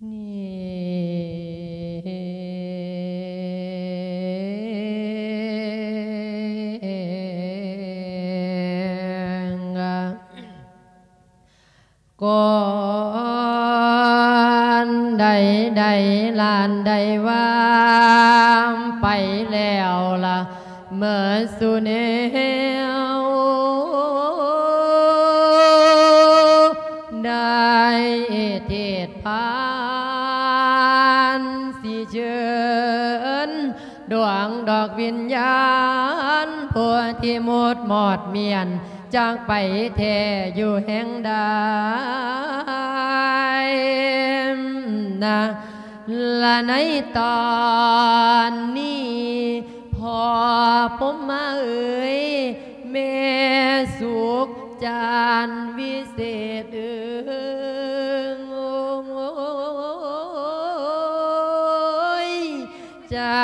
ນີ້ ກ່ອນໃດໆ ຫຼານໄດ້ວ່າໄປແລ້ວລະ ເມີດສູ່ແນວ ໄດ້ເທດພານ ຊິເຊີນ ດວງດອກວິນຍານ ຜູ້ທີ່ໝົດມອດມ້ຽນ ຈາກໄປແທ້ຢູ່ແຫ່ງໃດນະ ລະໃນຕອນນີ້ ພໍ່ພົມມາເອີຍ ແມ່ສຸກຈັນວິເສດເອີຍ ໂອ້ຍ ຈັ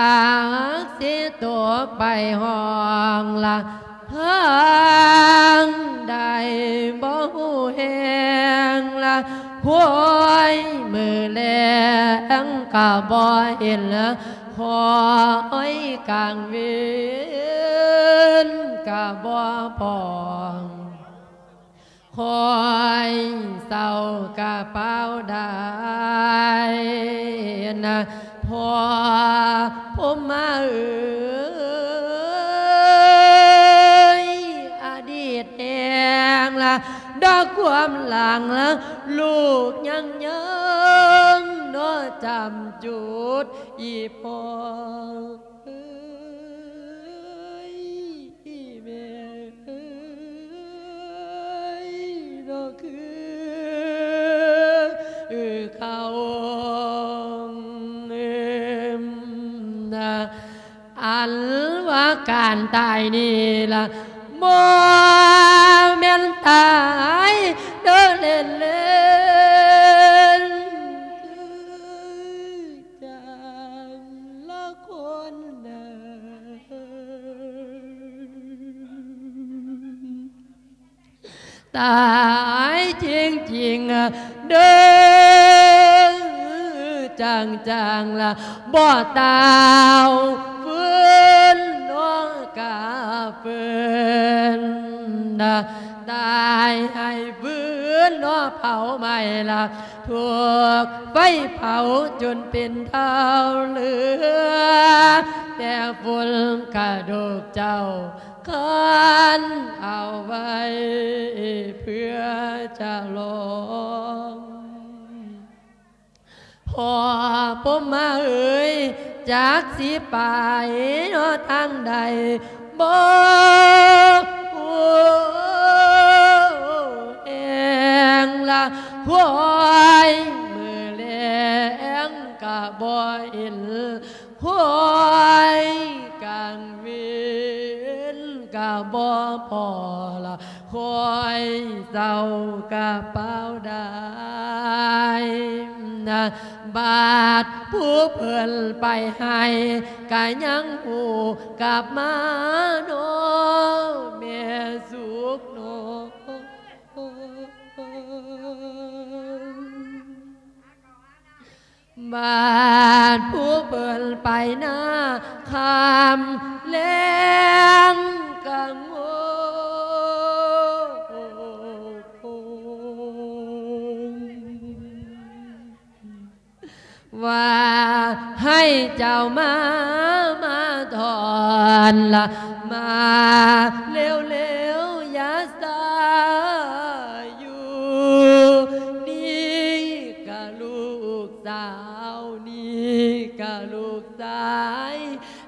ກຊິຕົກໄປຫ້ອງລະທາງໃດ ບໍ່ຮູ້ແຫ່ງລະ ໂຫຍ ມື້ແລງກະບໍ່ເຫັນ ຄອຍກາງເວັນກະບໍ່ພໍ ຄອຍເຊົ້າກະປາວດາຍນະ ພໍ່ພົມມາເອີຍ ອະດີດແຫ່ງລະ ດອກຄວາມຫຼັງລະ ລູກຍັງເຍີງເນາະ ຈຳຈຸດອີ່ພໍ່ ເອີຍ ອີແມ່ເອີຍ ດອກຄືເຂົາ ອັນວ່າການຕາຍນີ້ລະ ບໍ່ແມ່ນຕາຍເດີເລ່ນໆ ຄື ຕ່າງລະຄົນນະ ຕາຍຈິງໆ ເດີ ຈັງໆ ລະ ບໍ່ຕາວຟື້ນເນາະ ກະຟື້ນນະ ຕາຍໃຫ້ຟື້ນເນາະ ເຜົາໄໝ້ລະ ຖືກໄຟເຜົາຈົນເປັນເທົາເຫຼືອ ແຕ່ຝຸ່ນກະດູກເຈົ້າ ຄັນເອົາໄວ້ເພື່ອຈະລອງ ພໍ່ພົມມາເອີຍ ຈັກຊິໄປເນາະທາງໃດ ບໍ່ຮູ້ແຫ່ງລະ ໂຫຍ ມື້ແລງກະບໍ່ເຫັນ ໂຫຍ ກາງເວັນກະບໍ່ພໍລະ ໂຫຍ ເຊົ້າກະປາວດາຍນະ ບາດຜູ້ເພິ່ນໄປໃຫ້ ກະຍັງຮູ້ກັບມາເນາະ ແມ່ສຸກເນາະ ບາດຜູ້ເພິ່ນໄປນາ ຄ່ຳແລງກະໂງ່ ວ່າໃຫ້ເຈົ້າມາ ມາຖອນລະ ມາເລັວໆ ຢ່າຊ້າຢູ່ ນີ້ກະລູກສາວ ນີ້ກະລູກຊາຍ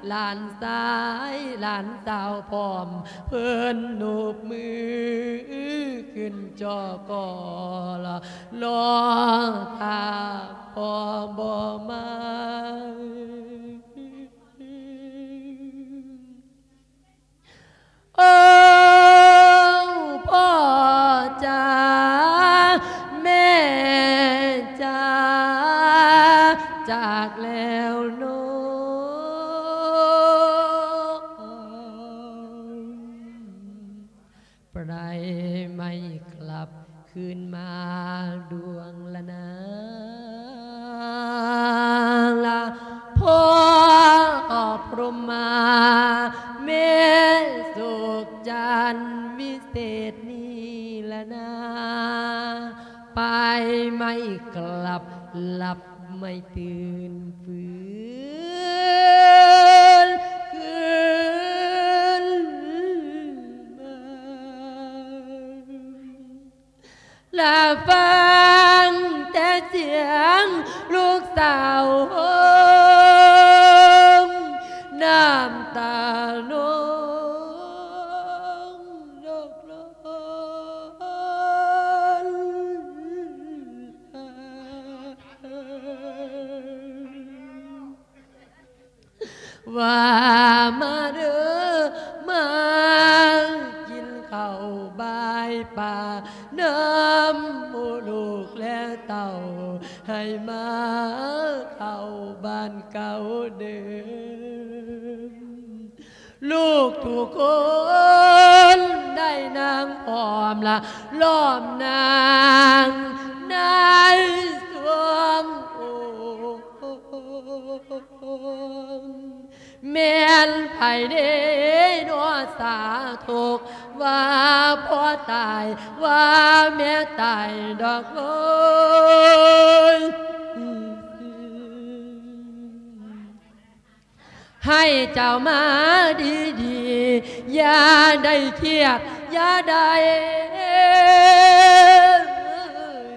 ຫຼານຊາຍ ຫຼານສາວພ້ອມ ເພິ່ນໂນບມືຂຶ້ນຈໍ່ກໍລະ ລໍຖ້າພໍ່ບໍ່ມາ. ໂອ້ ພໍ່ຈ໋າ ແມ່ຈ໋າ ຈາກແລ້ວເນາະ ໄປໄດ້ໄມ່ກັບຄືນມາດວງລະນາ. ໄມ້ກະລັບ ຫຼັບໄມ່ຕື່ນຟື້ນຄືນມາ ລະຟັງແຕ່ສຽງລູກສາວຮ້ອງ ນ້ຳຕານອງດອກລອນ ວ່າມາເດີ ມາກິນເຂົ້າບາຍປາ ນຳໝູ່ລູກແລະເຕົ້າ ໃຫ້ມາເຂົ້າບ້ານເກົ່າເດີມ. ລູກທຸກຄົນໄດ້ນັ່ງພ້ອມລະ ລ້ອມນາງໃນຊ່ວງໂອ ແມ່ນໃຜເດນໍສາທຸກ ວ່າພໍ່ຕາຍ ວ່າແມ່ຕາຍດອກເອີຍ. ໃຫ້ເຈົ້າມາດີໆ ຢ່າໄດ້ຄຽດ ຢ່າໄດ້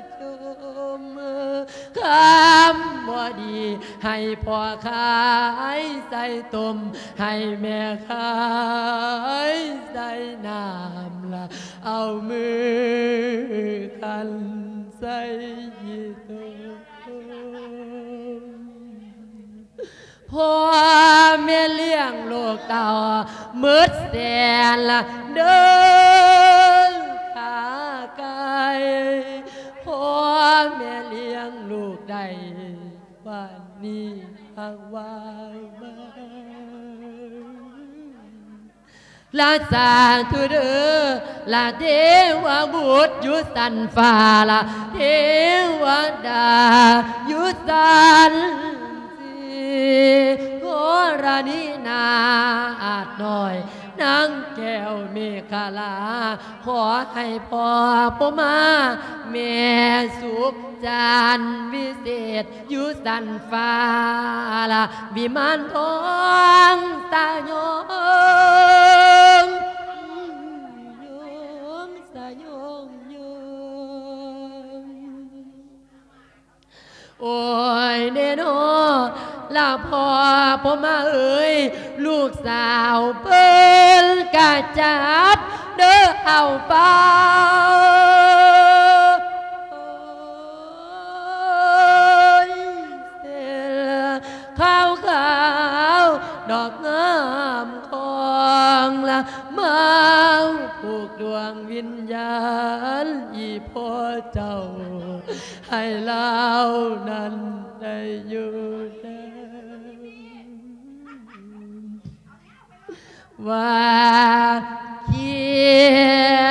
ຈົ່ມ ຄຳບໍ່ດີໃຫ້ພໍ່ຂາຍໃສ່ຕົ້ມ ໃຫ້ແມ່ຂາຍໃສ່ນ້ຳ ລະເອົາມືຂັນໃສ່ຂີ້ຕົມ. ພໍ່ແມ່ລ້ຽງລູກເຕົ້າໝົດແສນລະເດີ ຂ້າໄກ່ ພໍ່ແມ່ລ້ຽງລູກໄດ້ ບາດນີ້ຫາກວ່າມາ ລະສາທຸເດີ ລະເທວະບຸດຢູ່ຊັ້ນຟ້າ ລະເທວະດາຢູ່ຊັ້ນສີ່ ກໍລະນີນາອາດນ້ອຍ ນາງແກ້ວເມຂະລາ ຂໍໃຫ້ພໍ່ພົມມາ ແມ່ສຸກ ຈັນວິເສດ ຢູ່ຊັ້ນຟ້າລະວິມານທອງສະຫຍອງ ສະຫຍອງ ໂອ້ຍເນນໍ ລະພໍ່ພົມມາເອີຍ ລູກສາວເພິ່ນກະຈັບເດີເອົາໄປ ເສນຂາວໆ ດອກງາມຂອງລະ ມາຜູກດວງວິນຍານອີ່ພໍ່ເຈົ້າ ໃຫ້ລາວນັ້ນໄດ້ຢູ່ນຳ ວ່າຄິ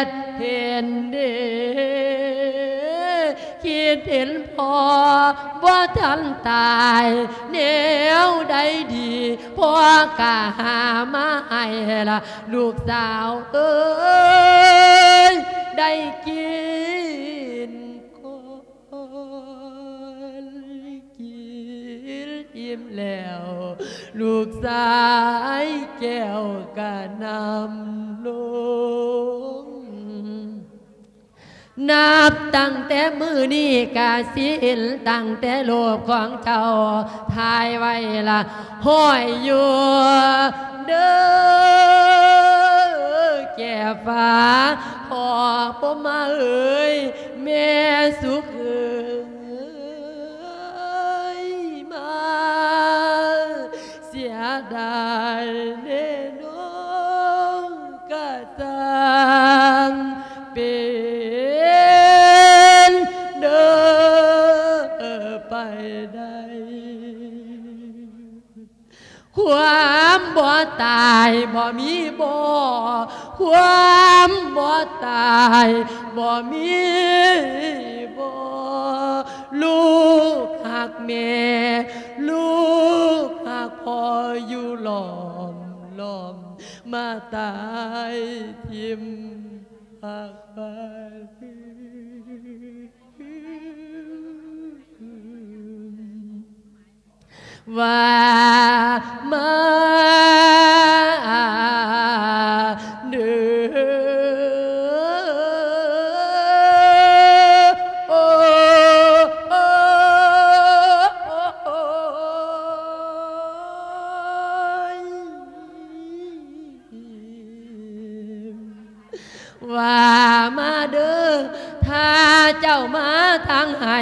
ດເຫັນເດ ຄິດເຫັນພໍ່ບໍ່ທັນຕາຍ ແນວໃດດີ ພໍ່ກະຫາມາໃຫ້ລະ ລູກສາວເອີຍ ໄດ້ກິນກ່ອນ ກິນອີ່ມແລ້ວ ລູກຊາຍແກ້ວກະນຳລົງ ນັບຕັ້ງແຕ່ມື້ນີ້ກະສິເຫັນ ຕັ້ງແຕ່ຮູບຂອງເຈົ້າຖ່າຍໄວ້ລະ ຫ້ອຍຢູ່ເດີແກ້ຟ້າ ພໍ່ພົມມາເອີຍ ແມ່ສຸກເອີຍ ມາ ເສຍດາຍແນ່ນອນ ກະຊ່າງເປັນເດີໄປໄດ້ ຄວາມບໍ່ຕາຍບໍ່ມີບໍ່ ຄວາມບໍ່ຕາຍບໍ່ມີບໍ່ ລູກຮັກແມ່ ລູກຮັກພໍ່ຢູ່ລ້ອມໆ ມາຕາຍຖິ້ມຮັກໄປ. ວ່າມາເດີ ໂອ້ ໂອ້ ໂອ້ຍ ວ່າມາເດີ ຖ້າເຈົ້າມາທາງໃຫ້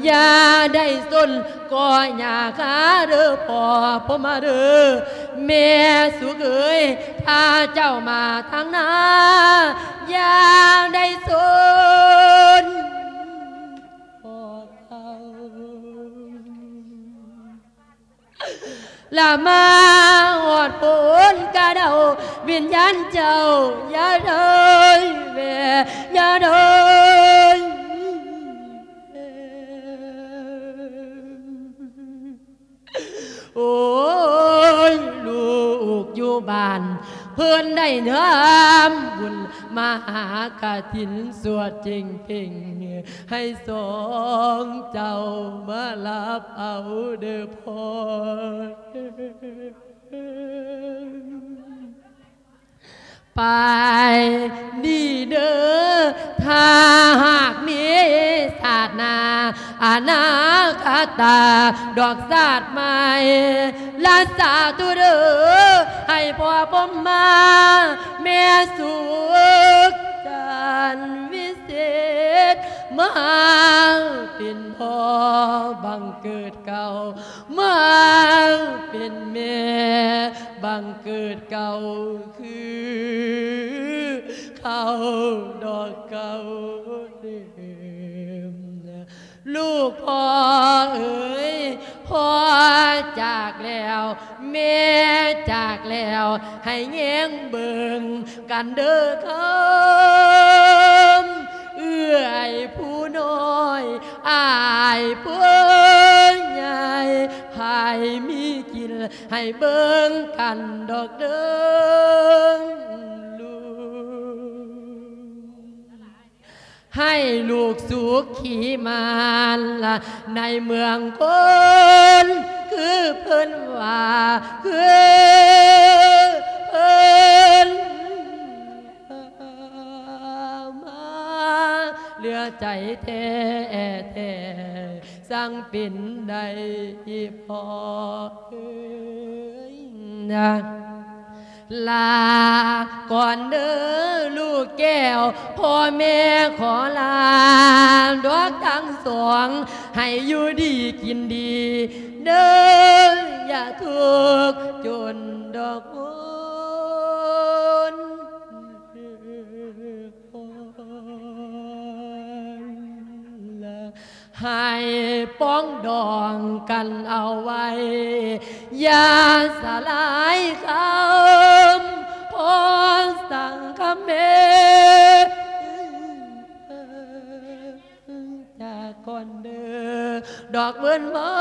ຢ່າໄດ້ສົນ ກໍຢ່າຄາເດີພໍ່ພົມມາເດີ ແມ່ສຸກເອີຍ ຖ້າເຈົ້າມາທາງໜ້າ ຢ່າໄດ້ສົນພໍ່ເຂົາ. ລະມາຮອດໂພນກະເດົາ ວິນຍານເຈົ້າຢ່າເດີແວ່ ຢ່າເດີແວ່ ໂອ້ຍ ລູກຢູ່ບ້ານ ເພິ່ນໄດ້ທຳບຸນມະຫາກະຖິນ ສວດເຈັງເພັງ ໃຫ້ສອງເຈົ້າມາຮັບເອົາເດີພໍ່ ໄປດີເດີ ຖ້າຫາກມີຊາດໜ້າ ອະນາຄະຕາດອກຊາດໃໝ່ ລະສາທຸເດີ ໃຫ້ພໍ່ພົມມາ ແມ່ສຸກຈັນວິເສດ ມາເປັນພໍ່ບັງເກີດເກົ່າ ມາເປັນແມ່ບັງເກີດເກົ່າ ຄືເກົ່າດອກເກົ່າເດີມ. ລູກພໍ່ເອີຍ ພໍ່ຈາກແລ້ວ ແມ່ຈາກແລ້ວ ໃຫ້ແຍງເບິ່ງກັນເດີຄຳ ເອື້ອຍຜູ້ນ້ອຍ ອ້າຍຜູ້ໃຫຍ່ ໃຜມີກິນ ໃຫ້ເບິ່ງກັນດອກເດີລູກ ໃຫ້ລູກສຸຂີມານລະໃນເມືອງຄົນ ຄືເພິ່ນວ່າ ຄືເພິ່ນ ມາເຫຼືອໃຈແທ້ໆ ສັງເປັນໄດ້ພໍ່ເອີຍນະ ລາກ່ອນເດີລູກແກ້ວ ພໍ່ແມ່ຂໍລາດອກທັງສອງ ໃຫ້ຢູ່ດີກິນດີເດີ ຢ່າທຸກຈົນດອກຄົນ ໃຫ້ປອງດອງກັນເອົາໄວ້ ຢ່າສະຫຼາຍຄຳ ພໍສັງຄະເມ ຈາກກ່ອນເດີ ດອກເວີນວອ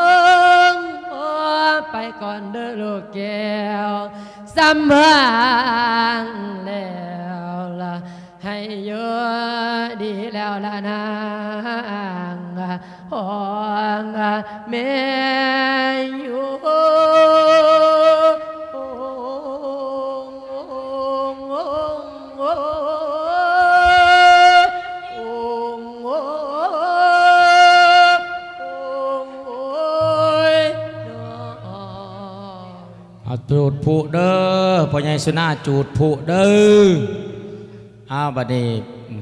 ງ ຂໍໄປກ່ອນເດີລູກແກ້ວ ສຳບາຍແລ້ວລະ ໃຫ້ຢູ່ດີແລ້ວລະນາງ ຂອງແມ່ຢູ່. ເອົາ ຈູດຜູເດີ ພໍ່ໃຫຍ່ສຸນາ ຈູດຜູເດີ. ອ້າວ ບັດນີ້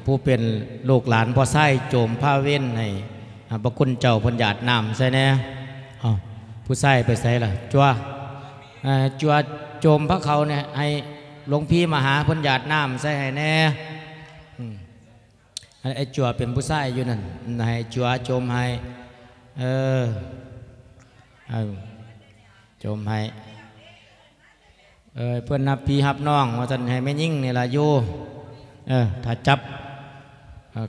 ຜູ້ເປັນລູກຫຼານພໍ່ຊາຍໂຈມພາເວັນໃຫ້ ອາ ພະຄຸນເຈົ້າເພິ່ນຢາດນ້ຳໃສ່ແດ່. ເອົ້າ ຜູ້ຊາຍໄປໃສລະ? ຈົວ ເອີ ຈົວໂຈມພະເຂົານີ້ ໃຫ້ຫຼວງພີ່ມະຫາເພິ່ນຢາດນ້ຳໃສ່ໃຫ້ແດ່. ອືມ ໃຫ້ໄອ້ຈົວເປັນຜູ້ຊາຍຢູ່ນັ້ນ ໃຫ້ຈົວໂຈມໃຫ້. ເອີ ເອີ ໂຈມໃຫ້. ເອີ ເພິ່ນຮັບພີ່ຮັບນ້ອງວ່າຊັ້ນ ໃຫ້ແມ່ຍິງນີ້ລະຢູ່ ເອີ ຖ້າຈັບ ເອີ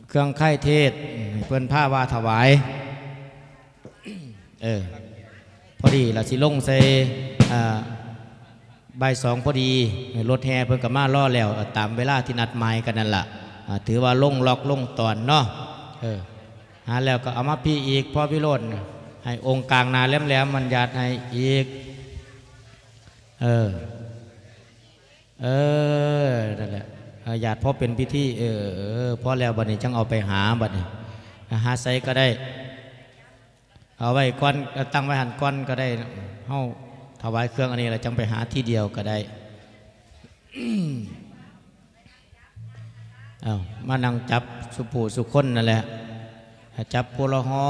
ເຄື່ອງໄຄເທດ ໃຫ້ເພິ່ນພາວ່າຖວາຍ. ເອີ ພໍດີລະຊິລົງໃສ່ ອາ ບ່າຍສອງພໍດີ ລົດແຫ່ເພິ່ນກໍມາລໍແລ້ວ ຕາມເວລາທີ່ນັດໝາຍກັນນັ້ນລະ. ອາ ຖືວ່າລົງລັອກລົງຕອນເນາະ. ເອີ ຫາແລ້ວກໍເອົາມາພີ້ອີກ ພໍ່ວິໂຣດ. ໃຫ້ອົງກາງໜ້າແຫຼມໆ ມັນຢາດໃຫ້ອີກ. ເອີ ເອີ ນັ້ນແຫຼະ ເອີ ຢາດພໍເປັນພິທີ. ເອີ ເອີ ພໍແລ້ວ ບັດນີ້ຈັ່ງເອົາໄປຫາ. ບັດນີ້ຫາໃສກໍໄດ້ ເອົາໄວ້ກ່ອນ ເອົາຕັ້ງໄວ້ຫັ້ນກ່ອນກໍໄດ້. ເຮົາຖວາຍເຄື່ອງອັນນີ້ແລ້ວ ຈັ່ງໄປຫາທີດຽວກໍໄດ້. ເອົາ ມານັ່ງຈັບສູ່ຜູ້ສູ່ຄົນນັ້ນແຫຼະ ຈັບຜູ້ລະຫໍ່